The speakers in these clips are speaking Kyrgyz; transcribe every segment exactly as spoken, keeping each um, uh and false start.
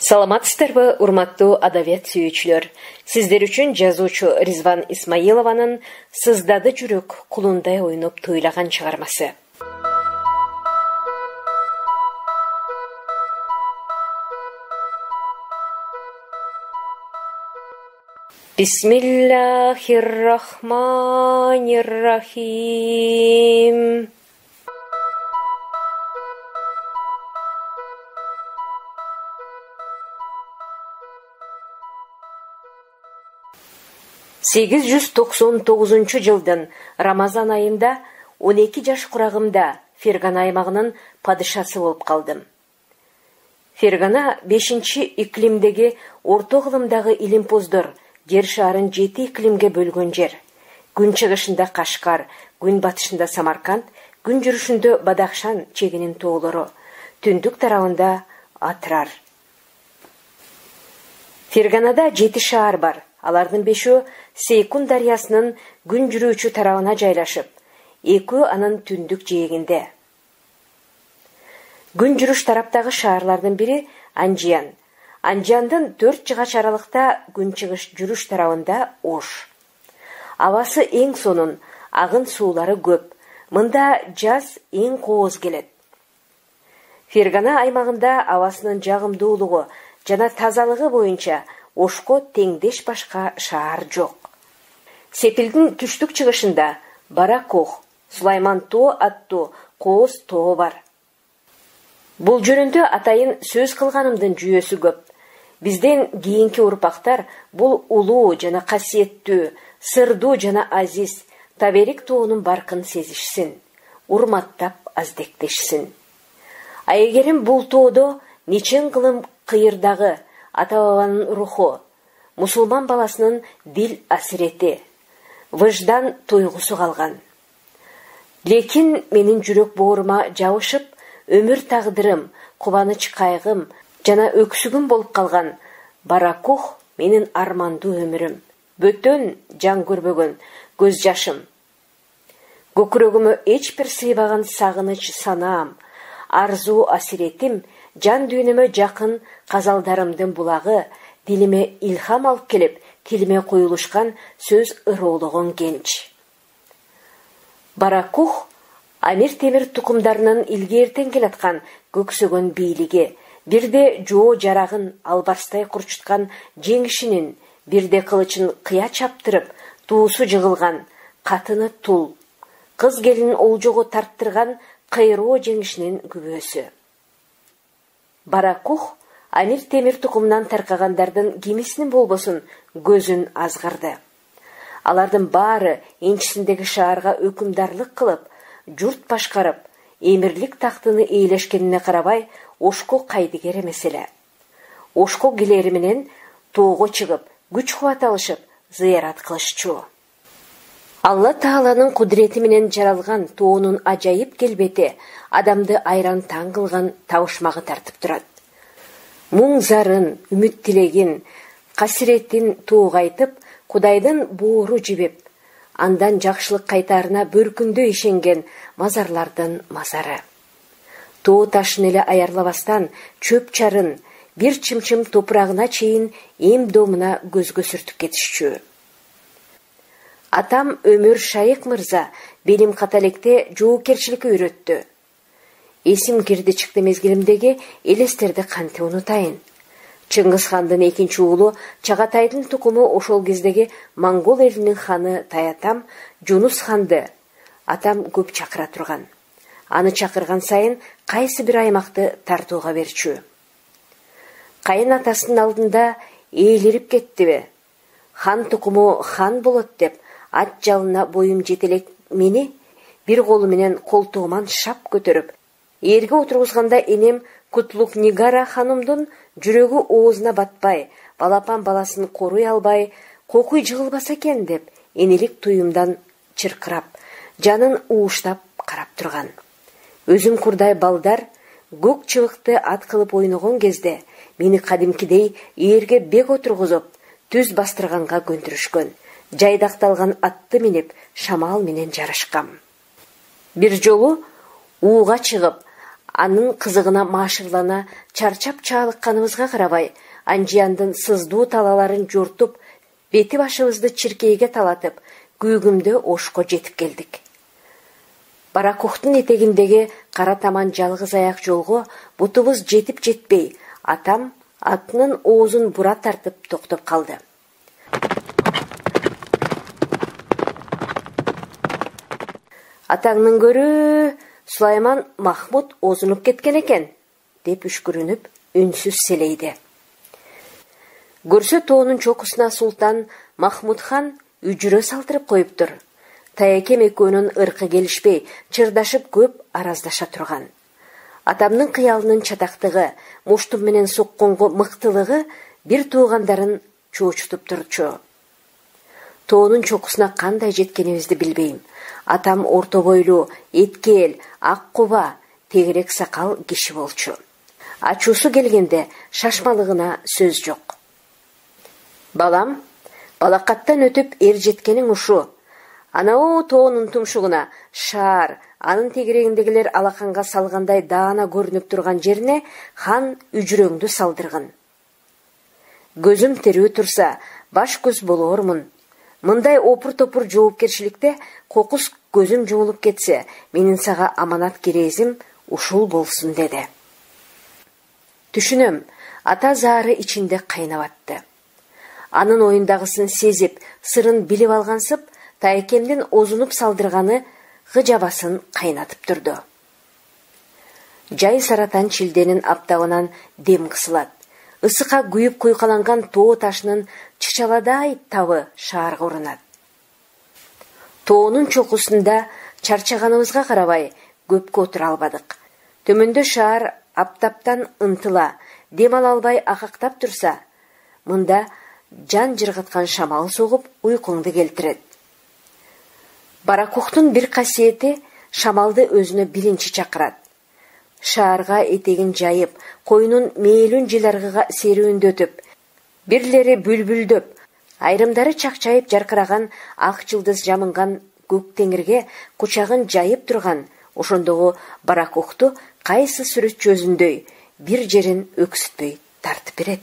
Саламатсыздарбы, урматтуу адабият сүйүүчүлөр. Сиздер үчүн жазуучу Ризван Исмаилованын «Сыздады жүрөк, кулундай ойноп тойлаган» чыгармасы. Бисмиллахир-рахманир-рахим. сегиз жүз токсон тогузунчу жылдын Рамазан айында он эки жаш курагымда Фергана аймагынын падышасы болуп калдым. Фергана бешинчи иклимдеги орто кылымдагы илимпоздор жер шаарын жети иклимге бөлгөн жер. Күн чыгышында Кашкар, күн батышында Самарканд, күн жүрүшүндө Бадахшан чегинин тоолору, түндүк тарабында Атрар. Ферганада жети шаар бар. Алардын бешөө Сейкун дарыясынын күн жүрүүчү тарабына жайлашып, экөө анын түндүк жээгинде. Күн жүрүш тараптагы шаарлардын бири Анжиян. Анжияндын төрт жыгач аралыкта күн чыгыш жүрүш тарабында Ош. Абасы эң сонун, агын суулары көп. Мында жаз эң кооз келет. Фергана аймагында абасынын жагымдуулугу жана тазалыгы боюнча Ошко теңдеш башка шаар жок. Сепилдин түштүк чыгышында Баракох, Сулайман тоо аттуу кооз тоо бар. Бул жөнүндө атайын сөз кылганымдын жүйөсү көп. Бизден кийинки урпактар бул улуу жана касиеттүү, сырдуу жана азиз Таберик тоонун баркын сезишсин, урматтап аздектешсин. Айгерим бул тоодо нечен кылым кыйырдагы ата-бабанын руху, мусулман баласынын дил асирети, выждан туйгусу калган. Лекин менин жүрөк боорума жабышып, өмүр тагдырым, кубаныч кайгым жана өксүгүм болуп калган Баракух менин армандуу өмүрүм, бөтөн жан көрбөгөн көз жашым. Көкүрөгүмө эч бир сыйбаган сагыныч санаам, арзуу асиретим, жан дүйнөмө жакын казалдарымдын булагы, дилиме илхам алып келип, тилиме коюлушкан сөз ыроологон кенч. Баракух Амир Темир тукумдарынын илгертен келаткан көксөгөн бийлиги, бирде жоо жарагын албарстай курчуткан жеңишинин, бирде кылычын кыя чаптырып, туусу жыгылган катыны тул, кыз келин олжого тарттырган кайроо жеңишинин күбөсү. Баракух Амир Темир тукумунан таркагандардын кимисинин болбосун көзүн азгырды. Алардын баары энчисиндеги шаарга өкүмдарлык кылып, журт башкарып, эмирлик тактыны ээлешкенине карабай, Ошко кайдыгер эмес эле. Ошко келери менен тоого чыгып, күч кубат алышып, зыярат кылышчу. Алла Тааланын кудурети менен жаралган тоонун ажайып келбети адамды айран таң кылган табышмагы тартып турат. Муң зарын, үмүт тилегин, касиретин тоого айтып, Кудайдын боору жибип, андан жакшылык кайтаарына бөркүндө ишенген мазарлардын мазары. Тоо ташын эле аярлабастан чөп чарын, бир чымчым топурагына чейин эм домуна көзгө сүртүп кетишчү. Атам Өмүр Шайык мырза белим каталекте жоокерчиликке үйрөттү. Эсим кирди чыкты мезгилимдеги элестерди кантип унутайын. Чыңгыз хандын экинчи уулу Чагатайдын тукуму ошол кездеги монгол элинин ханы Таятам Жунус ханды атам көп чакыра турган. Аны чакырган сайын кайсы бир аймакты тартууга берчү. Кайын атасынын алдында ээлирип кеттиби? Хан тукуму хан болот деп ат жалына боюм жетелек мени бир колу менен колтугуман шап көтөрүп, эрге отургузганда энем Кутлук Нигара ханымдын жүрөгү оозуна батпай, балапан баласын коруй албай, кокуй жыгылбаса экен деп, энелик туюмдан чыркырап, жанын ууштап карап турган. Өзүм курдай балдар көк чыбыкты ат кылып ойногон кезде мени кадимкидей эрге бек отургузуп, түз бастырганга көндүрүшкөн. Жайдакталган атты минип, шамал менен жарышкам. Бир жолу ууга чыгып, анын кызыгына маашырлана чарчап чаалыкканыбызга карабай, Анжияндын сыздуу талаларын жортуп, бети башыбызды чиркейге талатып, күйгүмдө Ошко жетип келдик. Баракухтун этегиндеги кара таман жалгыз аяк жолго бутубуз жетип жетпей, атам атынын оозун бура тартып токтоп калды. Атаңнын көрү Сулайман Махмуд озунуп кеткен экен, деп үшкүрүнүп, үнсүз селейди. Көрсө тоонун чокусуна Султан Махмуд хан үжүрө салтырып коюптур. Таекем экөөнүн ыркы келишпей, чырдашып көп араздаша турган. Атамдын кыялынын чатактыгы, муштум менен сокконго мыктылыгы бир туугандарын чоочутуп турчу. Тоонун чокусуна кандай жеткенибизди билбейм. Атам орто бойлуу, эткел, ак куба, тегерек сакал киши болчу. Ачуусу келгенде шашмалыгына сөз жок. Балам, балакаттан өтүп эр жеткениң ушу. Анау тоонун тумшугуна шаар, анын тегерегиндегилер алаканга салгандай даана көрүнүп турган жерине хан үжүрөңдү салдыргын. Көзүм терүү турса, баш көз болоормун. Мындай опур-топур жоопкерчиликте кокус көзүм жумулуп кетсе, менин сага аманат керезим ушул болсун деди. Түшүнөм, ата заары ичинде кайнап атты. Анын оюндагысын сезип, сырын билип алгансып, Таекемдин озунуп салдырганы гыжабасын кайнатып турду. Жай саратан шилденин аптабынан дем кысылат. Ысыкка күйүп куйкаланган тоо ташынын чычаладай табы шаарга урунат. Тоонун чокусунда чарчаганыбызга карабай көпкө отура албадык. Төмөндө шаар аптаптан ынтыла, дем ала албай акактап турса, мында жан жыргаткан шамал согуп уйкуңду келтирет. Баракухтун бир касиети шамалды өзүнө биринчи чакырат. Шаарга этегин жайып, коюнун мээлүн жыларгыга серүүндөтүп, бирлери бүлбүлдөп, айрымдары чакчайып жаркыраган ак жылдыз жамынган көк теңирге кучагын жайып турган ошондогу Баракухту кайсы сүрөтчү өзүндөй бир жерин өксүтпөй тартып берет.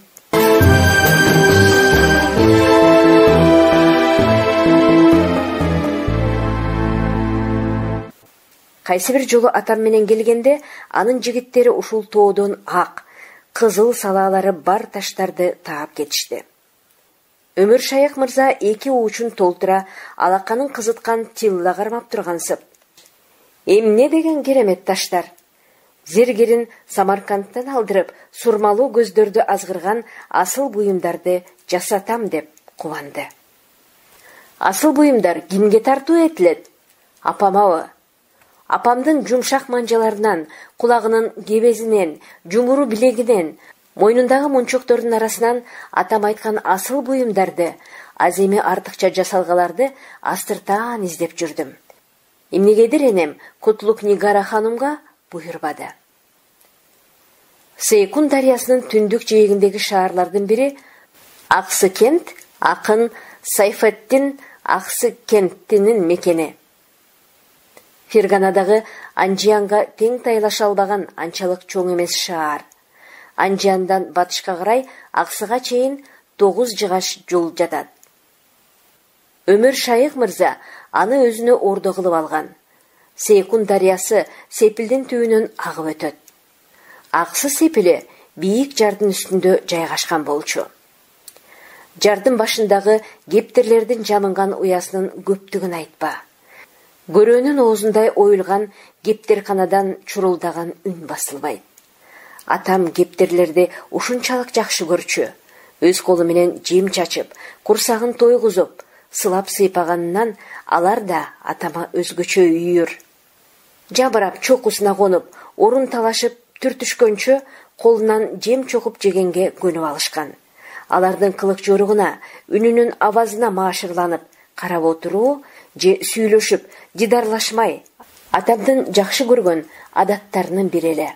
Кайсы бир жолу атам менен келгенде, анын жигиттери ушул тоодон ак, кызыл салаалары бар таштарды таап кетишти. Өмүр Шайык мырза эки уучун толтура алаканын кызыткан тилла кармап тургансып. Эмне деген керемет таштар? Зергерин Самаркандтан алдырып, сурмалуу көздөрдү азгырган асыл буюмдарды жасатам деп кубанды. Асыл буюмдар кимге тартуу этилет? Апамабы? Апамдын жумшак манжаларынан, кулагынын кебезинен, жумуру билегинен, мойнундагы мунчоктордун арасынан атам айткан асыл буюмдарды, аземи артыкча жасалгаларды астыртаан издеп жүрдүм. Эмнегедир энем Кутлук Нигара ханымга буйрбады. Сейкун дарыясынын түндүк жээгиндеги шаарлардын бири Аксы кент, акын Сайфеттин Аксы кенттинин мекени. Ферганадагы Анжиянга тең тайлаша албаган анчалык чоң эмес шаар. Анжияндан батышка карай Аксыга чейин тогуз жыгаш жол жатат. Өмүр Шайык мырза аны өзүнө ордо кылып алган. Сейкун дарыясы Сепилдин түбүнөн агып өтөт. Аксы Сепили бийик жардын үстүндө жайгашкан болчу. Жардын башындагы кептерлердин жамынган уясынын көптүгүн айтпа. Көрөөнүн оозундай оюлган кептерканадан чурулдаган үн басылбайт. Атам кептерлерди ушунчалык жакшы көрчү. Өз колу менен жем чачып, курсагын тойгузуп, сылап сыйпаганынан алар да атама өзгөчө үйүр. Жабырап чокусуна конуп, орун талашып түртүшкөнчө колунан жем чогуп жегенге көнүп алышкан. Алардын кылык жоругуна, үнүнүн абазына маашырланып карап отуруу же сүйлөшүп, дидарлашмай, атамдын жакшы көргөн адаттарынын бири эле.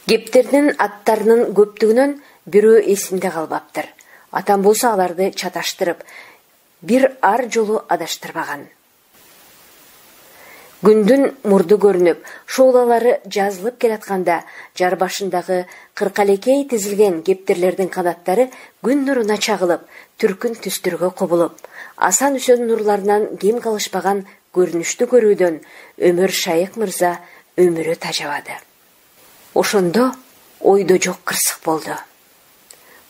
Кептердин аттарынын көптүгүнөн бирөө эсимде калбаптыр. Атам болсо аларды чаташтырып, бир ар жолу адаштырбаган. Күндүн мурду көрүнүп, шоолалары жазылып келатканда, жар башындагы кыркалекей тизилген кептерлердин канаттары күн нуруна чагылып, түркүн түстөргө кобулуп, асан үсөн нурларынан кем калышпаган көрүнүштү көрүүдөн Өмөр Шайык мырза өмүрү тажабады. Ошондо ойдо жок кырсык болду.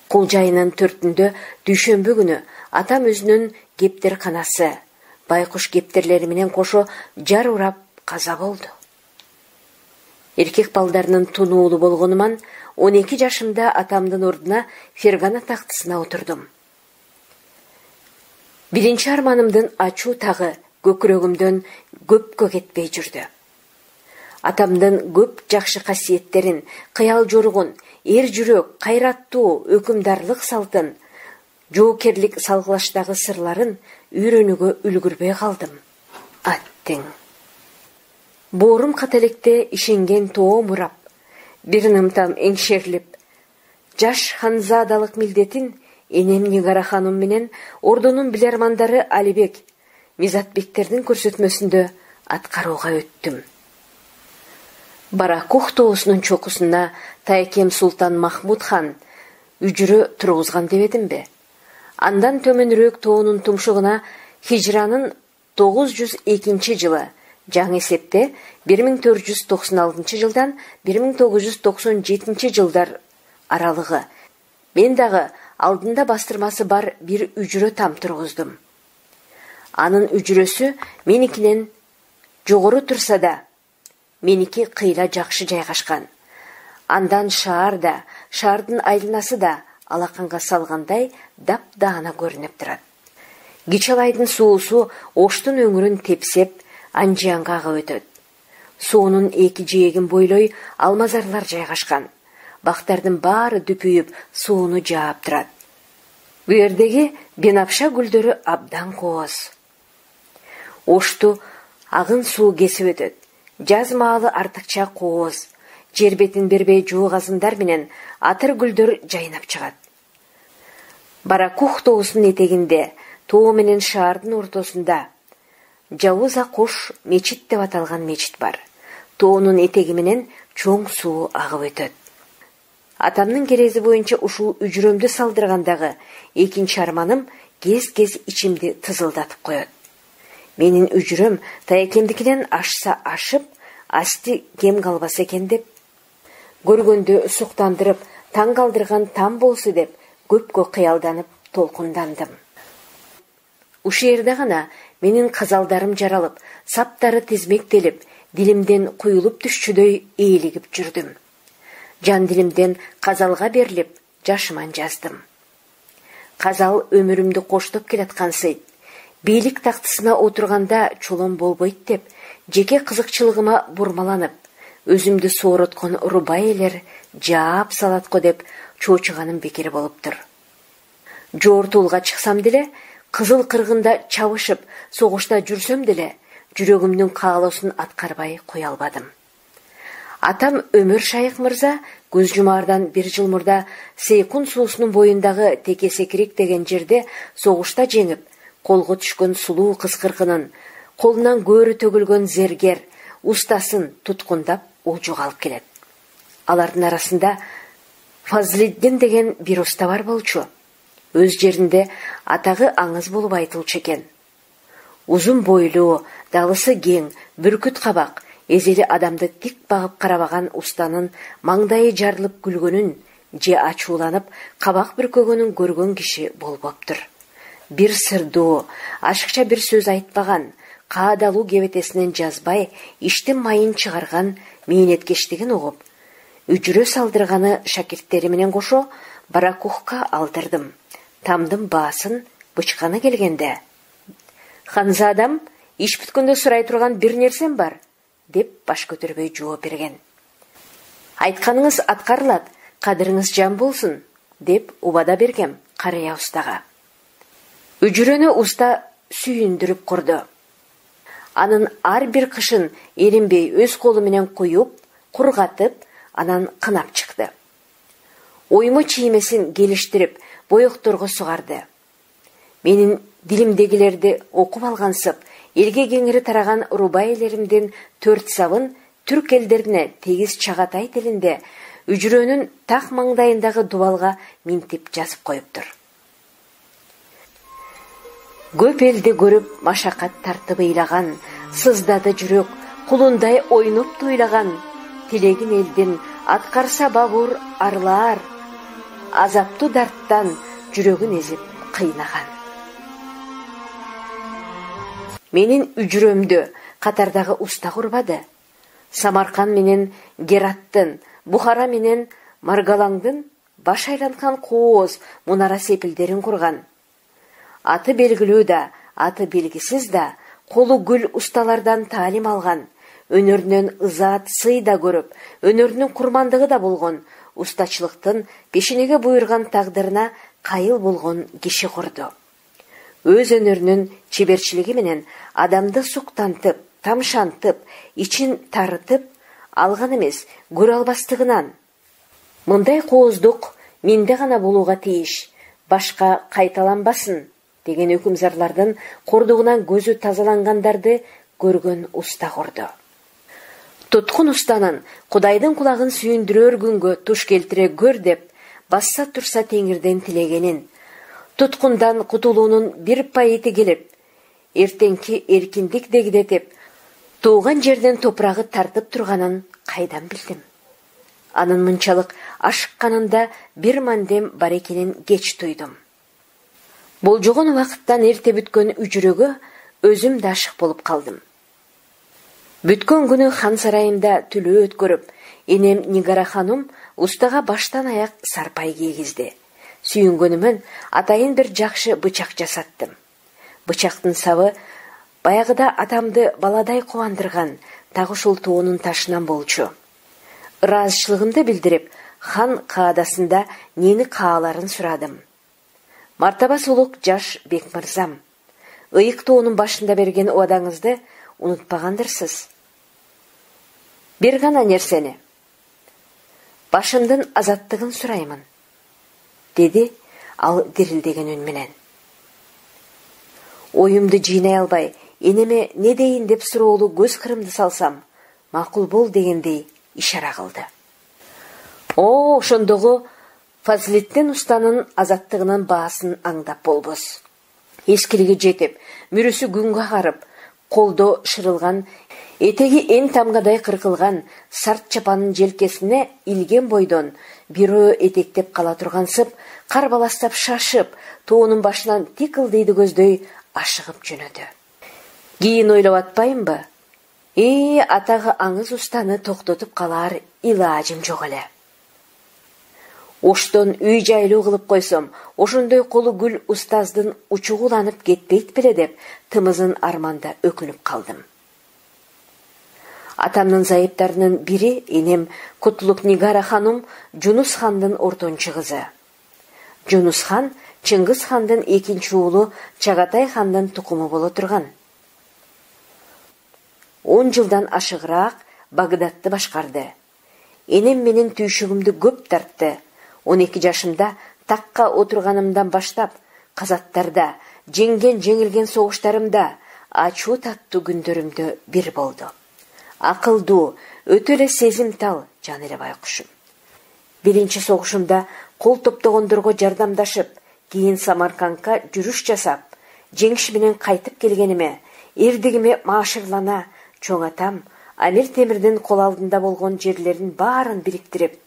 Кулжайынын төртүндө дүйшөмбү күнү атам өзүнүн кептер канасы, байкуш кептерлери менен кошо жар урап каза болду. Эркек балдарынын тунуулу болгонуман он эки жашымда атамдын ордуна Фергана тактысына отурдум. Биринчи арманымдын ачуу тагы көкүрөгүмдөн көпкө кетпей жүрдү. Атамдын көп жакшы касиеттерин, кыял жоругун, эр жүрөк, кайраттуу, өкүмдарлык салтын, жоокерлик салгылаштагы сырларын үйрөнүүгө үлгүрбөй калдым. Аттең. Боорум кателекте ишенген тоо мурап, бир нымтам эңшерилип, жаш ханзадалык милдетин энем Нигара ханум менен ордунун билермандары Алибек, Мизатбектердин көрсөтмөсүндө аткарууга өттүм. Баракух тоосунун чокусуна Тайкем Султан Махмуд хан үжүрө тургузган дебедимби? Андан төмөнүрөөк тоонун тумшугуна хижранын тогуз жүз экинчи жылы, жаңы эсепте бир миң төрт жүз токсон алтынчы жылдан бир миң тогуз жүз токсон жетинчи жылдар аралыгы мен дагы алдында бастырмасы бар бир үжүрө там тургуздум. Анын үжүрөсү меникинен жогору турса да, меники кыйла жакшы жайгашкан. Андан шаар да, шаардын айланасы да алаканга салгандай дап-даана көрүнүп турат. Кичалайдын суусу Оштун өңүрүн тепсеп, Анжиянга агып өтөт. Суунун эки жээгин бойлой алмазарлар жайгашкан. Бактардын баары дүпүйүп, сууну жаап турат. Буердеги бенапша гүлдөрү абдан кооз. Ошту агын суу кесип өтөт. Жаз маалы артыкча кооз, жер бетин бербей жуугазындар менен атыр гүлдөр жайнап чыгат. Баракух тоосунун этегинде, тоо менен шаардын ортосунда Жавуза Кош мечит деп аталган мечит бар. Тоонун этеги менен чоң суу агып өтөт. Атамдын керези боюнча ушул үжүрөмдү салдыргандагы экинчи арманым кез-кез ичимди тызылдатып коет. Менин үжүрөм Тайкемдикинен ашса ашып, асти кем калбаса экен деп, көргөндө суктандырып, таң калдырган там болсу деп, көпкө кыялданып, толкундандым. Ушул жерде гана менин казалдарым жаралып, саптары тизмектелип, дилимден куюлуп түшчүдөй ээлигип жүрдүм. Жан дилимден казалга берилип, жашыман жаздым. Казал өмүрүмдү коштоп келаткансыйт. Бийлик тактысына отурганда чолон болбойт деп, жеке кызыкчылыгыма бурмаланып, өзүмдү соороткон рубай элер жаап салатко деп чоочуганым бекер болуптур. Жортуулга чыксам деле, кызыл кыргында чабышып, согушта жүрсөм деле, жүрөгүмдүн каалоосун аткарбай кое албадым. Атам Өмөр Шайык мырза көз жумаардан бир жыл мурда Сейкун суусунун боюндагы Текесекирик деген жерде согушта жеңип, колго түшкөн сулуу кыз кыркынын, колунан көөрү төгүлгөн зергер, устасын туткундап олжуга алып келет. Алардын арасында Фазлиддин деген бир уста бар болчу. Өз жеринде атагы аңыз болуп айтылчу экен. Узун бойлуу, далысы кең, бүркүт кабак, эзели адамды тик багып карабаган устанын маңдайы жарылып күлгөнүн, же ачууланып кабак бүркөгөнүн көргөн киши болбоптур. Бир сырдуу, ашыкча бир сөз айтпаган, каадалуу кебетесинен жазбай, иштин майын чыгарган мээнеткештигин угуп, үжүрө салдырганы шакирттери менен кошо Баракухка алдырдым. Тамдын баасын бычканы келгенде: "Ханзадам, иш бүткөндө сурай турган бир нерсем бар", деп баш көтөрбөй жооп берген. "Айтканыңыз аткарылат, кадырыңыз жан болсун", деп убада бергем карыя устага. Үжүрөнү уста сүйүндүрүп курду. Анын ар бир кышын эринбей өз колу менен куюп, кургатып, анан кынап чыкты. Оймо чиймесин келиштирип, боекторго сугарды. Менин дилимдегилерди окуп алгансып, элге кеңири тараган рубаилеримдин төрт сабын түрк элдерине тегиз чагатай тилинде үжүрөнүн так маңдайындагы дубалга минтип жазып коюптур. Көп элди көрүп машакат тартып ыйлаган, сыздады жүрөк, кулундай ойноп туйлаган, тилегин элдин аткарса бабур арлаар, азаптуу дарттан жүрөгүн эзип кыйнаган. Менин үжүрөмдү катардагы уста курбады. Самаркан менен Гераттын, Бухара менен Маргалаңдын баш айланткан кооз мунара сепилдерин курган. Аты белгилүү да, аты белгисиз да, колу гүл усталардан таалим алган, өнөрүнөн ызаат сый да көрүп, өнөрүнүн курмандыгы да болгон, устачылыктын пешенеге буйрган тагдырына кайыл болгон киши курду. Өз өнөрүнүн чеберчилиги менен адамды суктантып, тамшантып, ичин тарытып алган эмес, көрө албастыгынан. Мындай кооздук менде гана болууга тийиш, башка кайталанбасын деген өкүмзарлардын кордугунан көзү тазалангандарды көргөн уста курду. Туткун устанын Кудайдын кулагын сүйүндүрөр күнгө туш келтире көр деп басса турса теңирден тилегенин, туткундан кутулуунун бир пайыты келип, эртеңки эркиндик дегдетип, тууган жерден топурагы тартып турганын кайдан билдим. Анын мынчалык ашыкканында бир мандем бар экенин кеч туйдум. Болжогон убакыттан эрте бүткөн үжүрөгө өзүм да ашык болуп калдым. Бүткөн күнү хан сарайында түлөө өткөрүп, энем Нигара ханум устага баштан аяк сарпай кийгизди. Сүйүнгөнүмөн атайын бир жакшы бычак жасаттым. Бычактын сабы баягыда атамды баладай кубандырган, так ушул тоонун ташынан болчу. Ыраазычылыгымды билдирип, хан каадасында нени кааларын сурадым. Мартаба сулук жаш бек мырзам, ыйык тоонун башында берген убадаңызды унутпагандырсыз. Бир гана нерсени, башымдын азаттыгын сураймын, деди ал дирилдеген үн менен. Оюмду жыйнай албай, энеме не дейин деп суроолуу көз кырымды салсам, макул бол дегендей ишара кылды. О, ошондогу Фазлеттен устанын азаттыгынын баасын аңдап болбос. Эскилиги жетип, мүрүсү күнгө карып, колдо шырылган, этеги эң тамгадай кыркылган сарт чапанын желкесине илген бойдон бирөө этектеп кала тургансып, кар баластап шашып, тоонун башынан тик ылдыйды көздөй ашыгып жөнөдү. Кийин ойлоп атпайынбы? Э, атагы аңыз устаны токтотуп калаар илажым жок эле. Оштон үй жайлуу кылып койсом, ошондой колу гүл устаздын учугуланып кетпейт беле деп, тымызын арманда өкүнүп калдым. Атамдын зайыптарынын бири энем Кутлук Нигара ханум Жунус хандын ортончу кызы. Жунус хан Чыңгыз хандын экинчи уулу Чагатай хандын тукуму боло турган. Он жылдан ашыгыраак Багдадты башкарды. Энем менин түйшүгүмдү көп тартты. он эки жашымда такка отурганымдан баштап, казаттарда, жеңген жеңилген согуштарымда, ачуу таттуу күндөрүмдө бир болду. Акылдуу, өтө эле сезимтал жан эле байкушум. Биринчи согушумда кол топтогондорго жардамдашып, кийин Самаркандка жүрүш жасап, жеңиш менен кайтып келгениме, эрдигиме маашырлана, чоң атам Амир Темирдин кол алдында болгон жерлерин баарын бириктирип,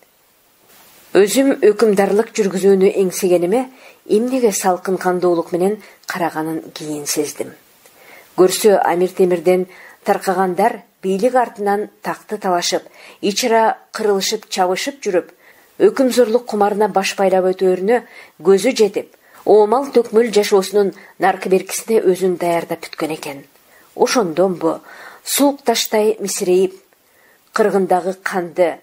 өзүм өкүмдарлык жүргүзүүнү эңсегениме, эмнеге салкын кандуулук менен караганын кийин сездим. Көрсө Амир Темирден таркагандар бийлик артынан такты талашып, ичара кырылышып чабышып жүрүп, өкүмзорлук кумарына баш байлап өтөөрүнө көзү жетип, оомал төкмөл жашоосунун наркы беркисине өзүн даярдап бүткөн экен. Ошондон бу суук таштай мисирейип, кыргындагы канды,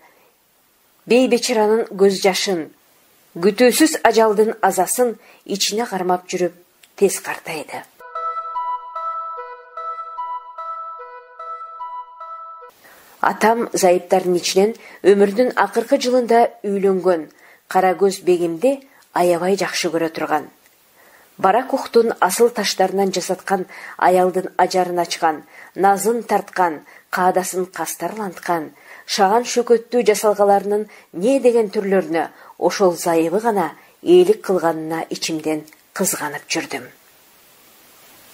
бейбечаранын көз жашын, күтүүсүз ажалдын азасын ичине кармап жүрүп тез картайды. Атам зайыптардын ичинен өмүрүнүн акыркы жылында үйлөнгөн кара көз бегимди аябай жакшы көрө турган. Барак уктун асыл таштарынан жасаткан аялдын ажарын ачкан, назын тарткан, каадасын кастарланткан, шаган шөкөттүү жасалгаларынын не деген түрлөрүнө ошол зайыбы гана ээлик кылганына ичимден кызганып жүрдүм.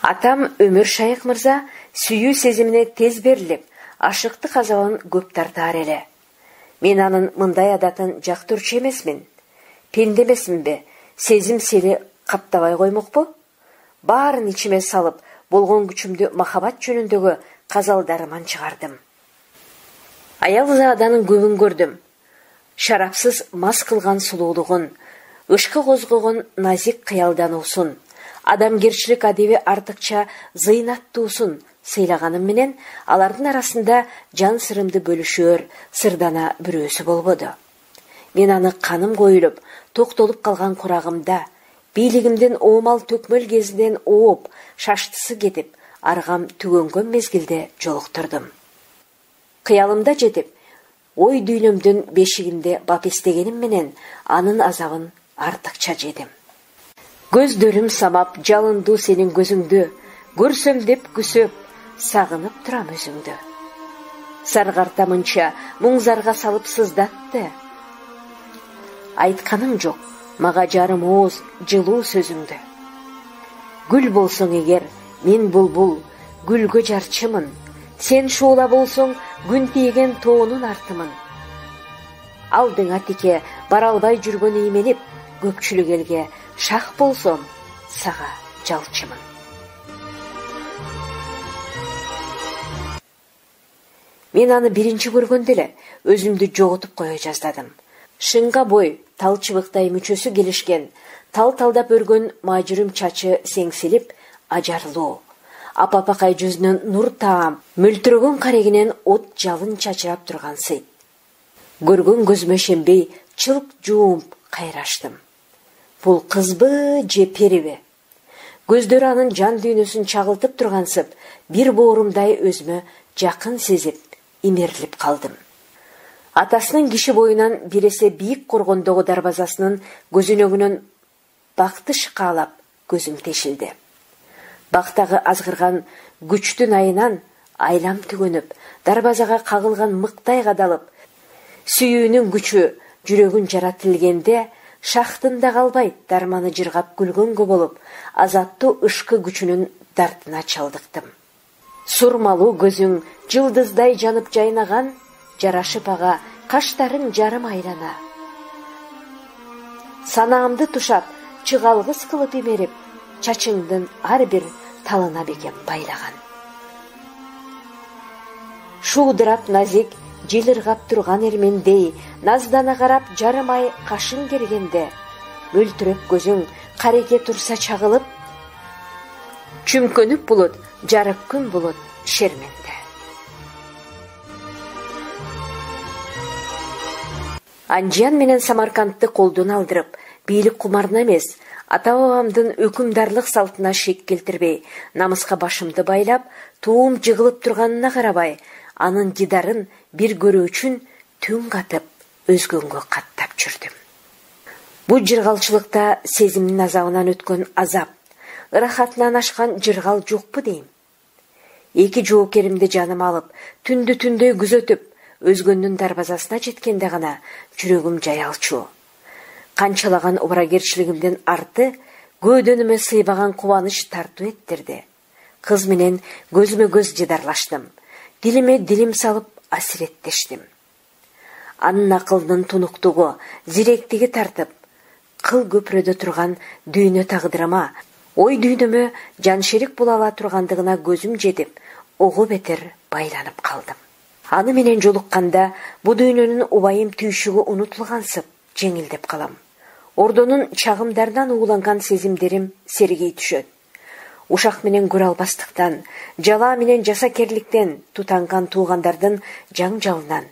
Атам Өмүр Шайык мырза сүйүү сезимине тез берилип, ашыктык азабын көп тартаар эле. Мен анын мындай адатын жактырчу эмесмин. Пенде эмесминби? Сезим сели каптабай коймокпу? Баарын ичиме салып, болгон күчүмдү махабат жөнүндөгү казалдарыман чыгардым. Аял зааданын көбүн көрдүм. Шарапсыз мас кылган сулуулугун, ышкы козгогон назик кыялдануусун, адамгерчилик адеби артыкча зыйнаттуусун сыйлаганым менен, алардын арасында жан сырымды бөлүшөр, сырдана бирөөсү болбоду. Мен аны каным коюлуп, токтолуп калган курагымда, бийлигимдин оомал төкмөл кезинен ооп, шаштысы кетип, аргам түгөнгөн мезгилде жолуктурдум. Кыялымда жетип, ой дүйнөмдүн бешигинде бап эстегеним менен анын азабын артыкча жедим. Көздөрүм самап жалынду сенин көзүңдү, көрсөм деп күсөп, сагынып турам өзүңдү. Саргарта мынча муңзарга салып сыздатты. Айтканым жок, мага жарым ооз жылуу сөзүңдү. Гүл болсоң эгер, мен булбул, гүлгө жарчымын. Сен шуула болсоң, күн тийген тоонун артымын. Алдыңа тике бара албай жүргөн иймелип, көпчүлүк элге шах болсом, сага жалчымын. Мен аны биринчи көргөндө эле өзүмдү жоготуп кое жаздадым. Шыңга бой, тал чыбыктай мүчөсү келишкен, тал-талдап өргөн мажүрүм чачы сеңсилип, ажарлуу. Апапакай жүзүнөн нур таам, мөлтүрөгөн карегинен от жалын чачырап турган сыйт. Көргөн көзүмө шенбей, чылк жуумп кайраштым. Бул кызбы же периби? Көздөрү анын жан дүйнөсүн чагылтып тургансып, бир боорумдай өзүмө жакын сезип, имерилип калдым. Атасынын киши боюнан бир эсе бийик коргондогу дарбазасынын көзүнөгүнөн бакты шыкаалап көзүм тешилди. Бактагы азгырган күчтүн айынан айлам түгөнүп, дарбазага кагылган мыктай кадалып, сүйүүнүн күчү жүрөгүн жаратылгенде, шахтын да калбайт дарманы жыргап күлгөнгө болуп, азаттуу ышкы күчүнүн дартына чалдыктым. Сурмалуу көзүң жылдыздай жанып жайнаган, жарашып ага каштарың жарым айлана. Санаамды тушап, чыгалгыс кылып имерип, чачыңдын ар бир талына бекем байлаган. Шуудурап назик, жылыргап турган эрмендей, наздана карап жарым ай кашың кергенде, мөлтүрөп көзүң кареке турса чагылып, чүмкөнүп булут, жарык күн булут шерменде. Анжиян менен Самаркандты колдон алдырып, бийлик кумарына эмес, ата-бабамдын өкүмдарлык салтына шек келтирбей, намыска башымды байлап, туум жыгылып турганына карабай, анын дидарын бир көрүү үчүн түн катып, өзгөнгө каттап жүрдүм. Бу жыргалчылыкта сезимдин азабынан өткөн азап, ырахатынан ашкан жыргал жокпу дейм. Эки жоокеримди жаным алып, түндү түндөй күзөтүп, өзгөндүн дарбазасына жеткенде гана жүрөгүм жаялчу. Канчалаган убарагерчилигимдин арты көөдөнүмө сыйбаган кубаныч тартуу эттирди. Кыз менен көзмө көз жыдарлаштым. Дилиме дилим салып асиреттештим. Анын акылдын тунуктугу, зиректиги тартып, кыл көпрөдө турган дүйнө тагдырыма, ой дүйнөмө жаншерик боло ала тургандыгына көзүм жетип, ого бетер байланып калдым. Аны менен жолукканда бу дүйнөнүн убайым түйшүгү унутулгансып, жеңилдеп калам. Ордонун чагымдарынан ууланган сезимдерим сергей түшөт. Ушак менен көрө албастыктан, жала менен жасакерликтен тутанган туугандардын жаңжалынан,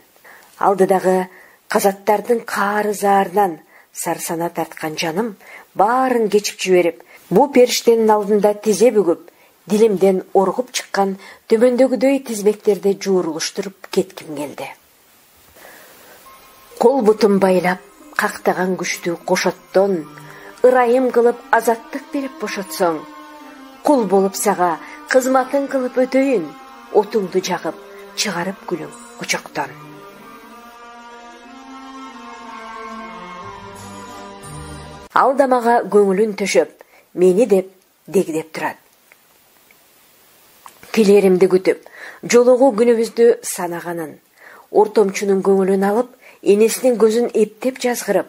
алдыдагы казаттардын каары заарынан сарсана тарткан жаным баарын кечип жиберип, бу периштенин алдында тизе бүгүп, дилимден оргуп чыккан төмөндөгүдөй тизмектерди жуурулуштуруп кетким келди. Кол бутум байлап, кактаган күчтүү кошоттон, ырайым кылып азаттык берип бошотсоң, кул болуп сага кызматын кылып өтөйүн, отуңду жагып чыгарып күлүң очоктон. Ал да мага көңүлүн төшөп, мени деп дегдеп турат. Келеримди күтүп, жолугуу күнүбүздү санаганын, ортомчунун көңүлүн алып, энесинин көзүн эптеп жазгырып,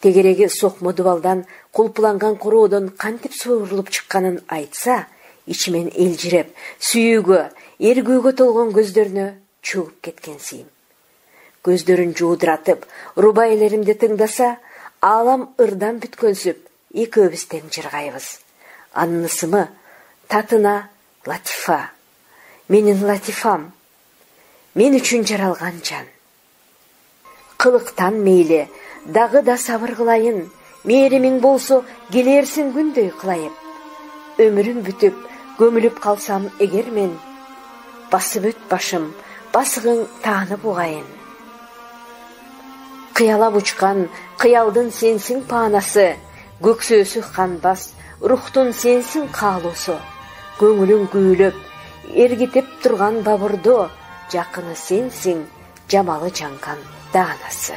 тегереги сокмо дубалдан кулпуланган короодон кантип суурулуп чыкканын айтса, ичимен элжиреп, сүйүүгө, эргүүгө толгон көздөрүнө чөгүп кеткенсийим. Көздөрүн жуудуратып, рубайлеримди тыңдаса, алам ырдан бүткөнсүп, экөөбүз тең жыргайбыз. Анын ысымы Татына Латифа. Менин Латифам, мен үчүн жаралган жан. Кылыктан мейли, дагы да сабыр кылайын, мээримиң болсо келерсин күндөй кылайып. Өмүрүм бүтүп, көмүлүп калсам эгер мен, басып өт башым, басыгың таанып угайын. Кыялап учкан кыялдын сенсиң паанасы, көксөөсү канбас, рухтун сенсиң каалоосу. Көңүлүң күйүлөп, эргитип турган бабурду, жакыны сенсиң, жамалы жанган даанасы.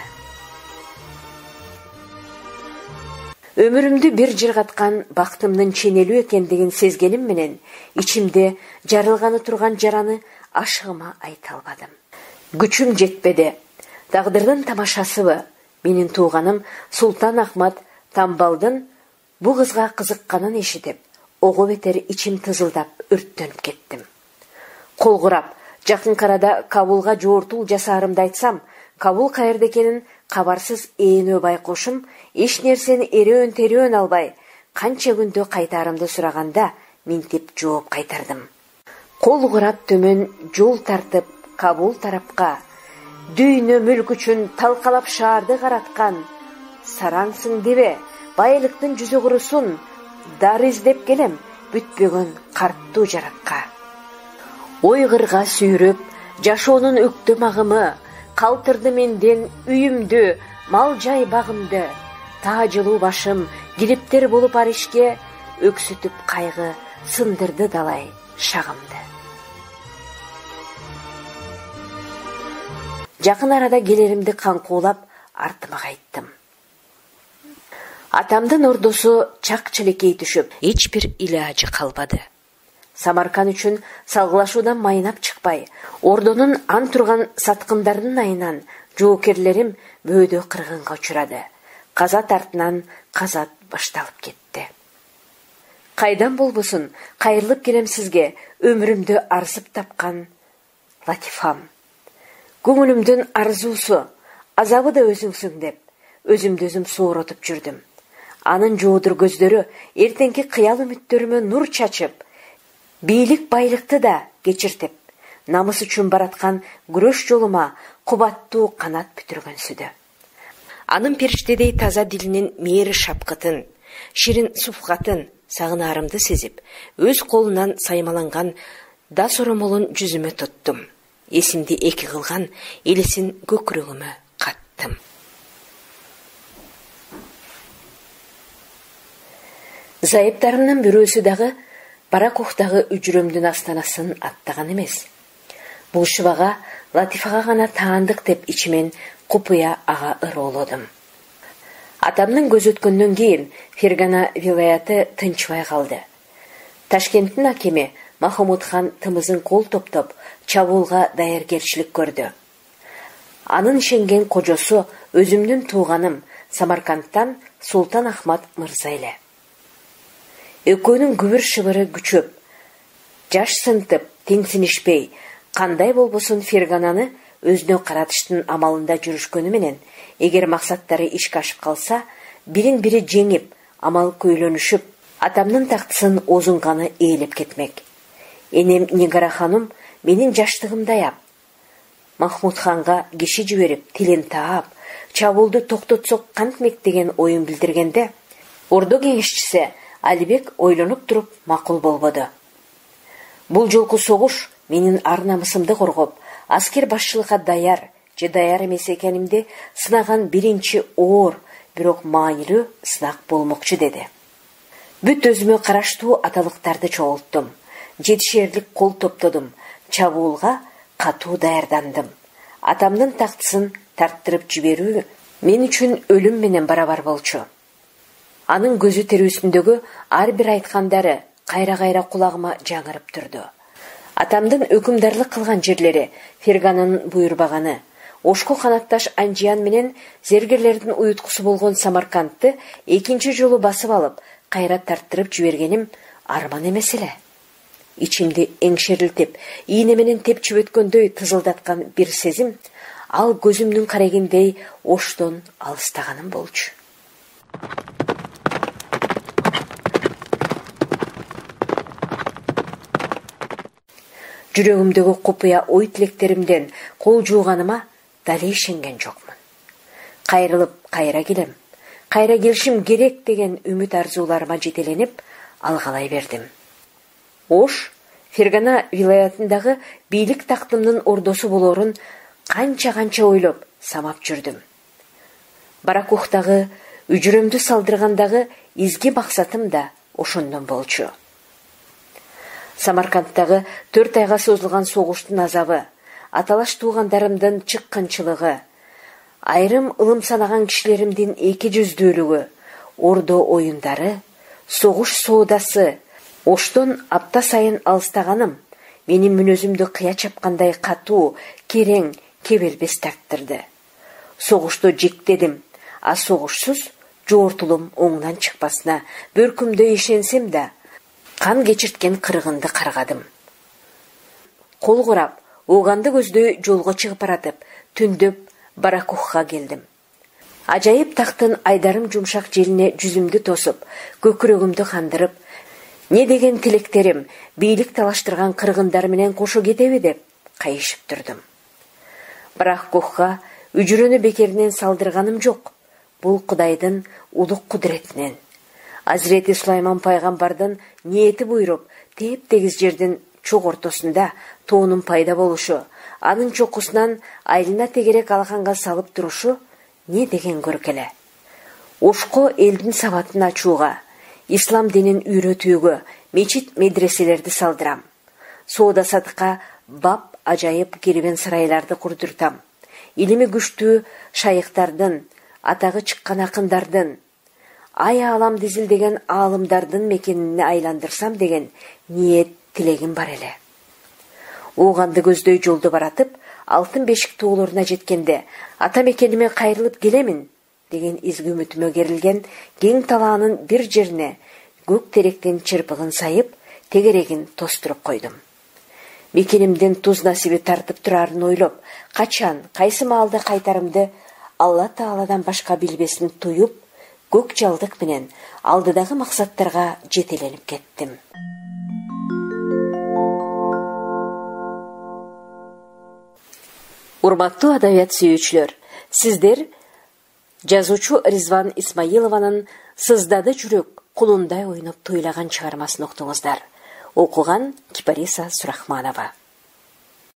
Өмүрүмдү бир жыргаткан бактымдын ченелүү экендигин сезгеним менен, ичимде жарылганы турган жараны ашыгыма айта албадым. Күчүм жетпеди. Тагдырдын тамашасыбы, менин тууганым Султан Ахмат Тамбалдын бу кызга кызыкканын эшитип, ого бетер ичим тызылдап өрттөнүп кеттим. Колгурап, жакынкы арада Кабулга жоортул жасаарымды айтсам, Кабул каерде экенин кабарсыз ээнөө байкошум эч нерсени эрөөн терөөн албай, канча күндө кайтаарымды сураганда, минтип жооп кайтардым. Колгурап төмөн жол тартып Кабул тарапка, дүйнө мүлк үчүн талкалап шаарды караткан, сараңсың дебе, байлыктын жүзү курусун, дар издеп келем бүтпөгөн карттуу жаракка. Ойгырга сүйрөп, жашоонун өктөм агымы, калтырды менден үйүмдү, мал жай багымды, таажылуу башым, кириптер болуп аришке, өксүтүп кайгы, сындырды далай шагымды. Жакын арада келеримди каңкуулап, артыма кайттым. Атамдын ордосу чак-челекей түшүп, эч бир илажы калбады. Самаркан үчүн салгылашуудан майнап чыкпай, ордонун ан турган саткындарынын айынан жоокерлерим бөөдө кыргынга учурады. Казат артынан казат башталып кетти. Кайдан болбосун, кайрылып келем сизге, өмүрүмдү арзып тапкан Латифам. Көңүлүмдүн арзуусу, азабы да өзүңсүң деп, өзүмдү өзүм сооротуп жүрдүм. Анын жоодур көздөрү эртеңки кыял үмүттөрүмө нур чачып, бийлик байлыкты да кечиртип, намыс үчүн бараткан күрөш жолума кубаттуу канат бүтүргөнсүдө. Анын периштедей таза дилинин мээри шапкытын, ширин суфкатын сагынаарымды сезип, өз колунан саймаланган да соромолун жүзүмө туттум. Эсимди эки кылган элесин көкүрөгүмө каттым. Зайыптарымдын бирөөсү дагы Баракухтагы үчүрөмдүн астанасын аттаган эмес. Бул шыбага Латифага гана таандык деп ичимен купуя ага ыроолодум. Атамдын көз өткөндөн кийин Фергана вилаяты тынчбай калды. Ташкенттин акими Махмуд хан тымызын кол топтоп, чабуулга даяргерчилик көрдү. Анын ишенген кожосу өзүмдүн тууганым Самаркандтан Султан Ахмат мырза эле. Экөөнүн күбүр шыбыры күчөп, жаш сынтып, теңсинишпей, кандай болбосун Фергананы өзүнө каратыштын амалында жүрүшкөнү менен, эгер максаттары ишке ашып калса, бирин бири жеңип, амал көйлөнүшүп, атамдын тактысын озунганы ээлеп кетмек. Энем Нигара ханум менин жаштыгымды аяп, Махмуд ханга киши жиберип, тилин таап, чабуулду токтотсок кантмек деген оюн билдиргенде, ордо кеңешчиси Алибек ойлонуп туруп макул болбоду. Бул жолку согуш менин ар намысымды коргоп, аскер башчылыкка даяр же даяр эмес экенимди сынаган биринчи оор бирок маанилүү сынак болмокчу деди. Бүт өзүмө караштуу аталыктарды чогулттум. Жетишерлик кол топтодум. Чабуулга катуу даярдандым. Атамдын тактысын тарттырып жиберүү мен үчүн өлүм менен барабар болчу. Анын көзү терүүсүндөгү ар бир айткандары кайра-кайра кулагыма жаңырып турду. Атамдын өкүмдарлык кылган жерлери, Фергананын буйрбаганы, Ошко канатташ Анжиян менен зергерлердин уюткусу болгон Самаркандты экинчи жолу басып алып, кайра тарттырып жибергеним арман эмес эле. Ичимди эңшерилтип, ийне менен тепчип өткөндөй тызылдаткан бир сезим, ал көзүмдүн карегиндей Оштон алыстаганым болчу. Жүрөгүмдөгү купуя ой тилектеримден кол жууганыма дали ишенген жокмун. Кайрылып кайра келем, кайра келишим керек деген үмүт арзууларыма жетеленип алгалай бердим. Ош Фергана вилаятындагы бийлик тактымдын ордосу болорун канча-канча ойлоп самап жүрдүм. Баракухтагы үжүрөмдү салдыргандагы изги максатым да ошондон болчу. Самаркандтагы төрт айга созулган согуштун азабы, аталаш туугандарымдын чыккынчылыгы, айрым ылым санаган кишилеримдин эки жүздүүлүгү, ордо оюндары, согуш соодасы, Оштон апта сайын алыстаганым менин мүнөзүмдү кыя чапкандай катуу, керең, кебелбес тарттырды. Согушту жектедим, а согушсуз жоортулум оңунан чыкпасына бөркүмдө ишенсем да, кан кечирткен кыргынды каргадым. Кол курап, ооганды көздөй жолго чыгып баратып, түндөп Баракухка келдим. Ажайып тактын айдарым жумшак желине жүзүмдү тосуп, көкүрөгүмдү кандырып, не деген тилектерим бийлик талаштырган кыргындар менен кошо кетеби деп кайышып турдум. Баракухка үжүрөнү бекеринен салдырганым жок. Бул Кудайдын улук кудретинен. Азирети Сулайман пайгамбардын ниети буйруп, теп-тегиз жердин чок ортосунда тоонун пайда болушу, анын чокусунан айылына тегерек алаканга салып турушу не деген көркеле. Ошко элдин сабатын ачууга, ислам динин үйрөтүүгө мечит медреселерди салдырам. Соода сатыкка бап ажайып кербен сарайларды курдуртам. Илими күчтүү шайыктардын, атагы чыккан акындардын, ай алам дизилдеген аалымдардын мекенине айландырсам деген ниет тилегим бар эле. Ооганды көздөй жолду баратып, алтын бешик тоолоруна жеткенде, ата мекениме кайрылып келемин деген изги үмүтүмө керилген кең талаанын бир жерине көк теректен чырпыгын сайып, тегерегин тостуруп койдум. Мекенимдин туз насиби тартып турарын ойлоп, качан, кайсы маалда кайтарымды Алла Тааладан башка билбесин туюп, көк жалдык менен алдыдагы максаттарга жетеленип кеттим. Урматтуу адабият сүйүүчүлөр, сиздер жазуучу Ризван Исмаилованын «Сыздады жүрөк, кулундай ойноп тойлаган» чыгармасын уктуңуздар. Окуган Кипариса Сурахманова.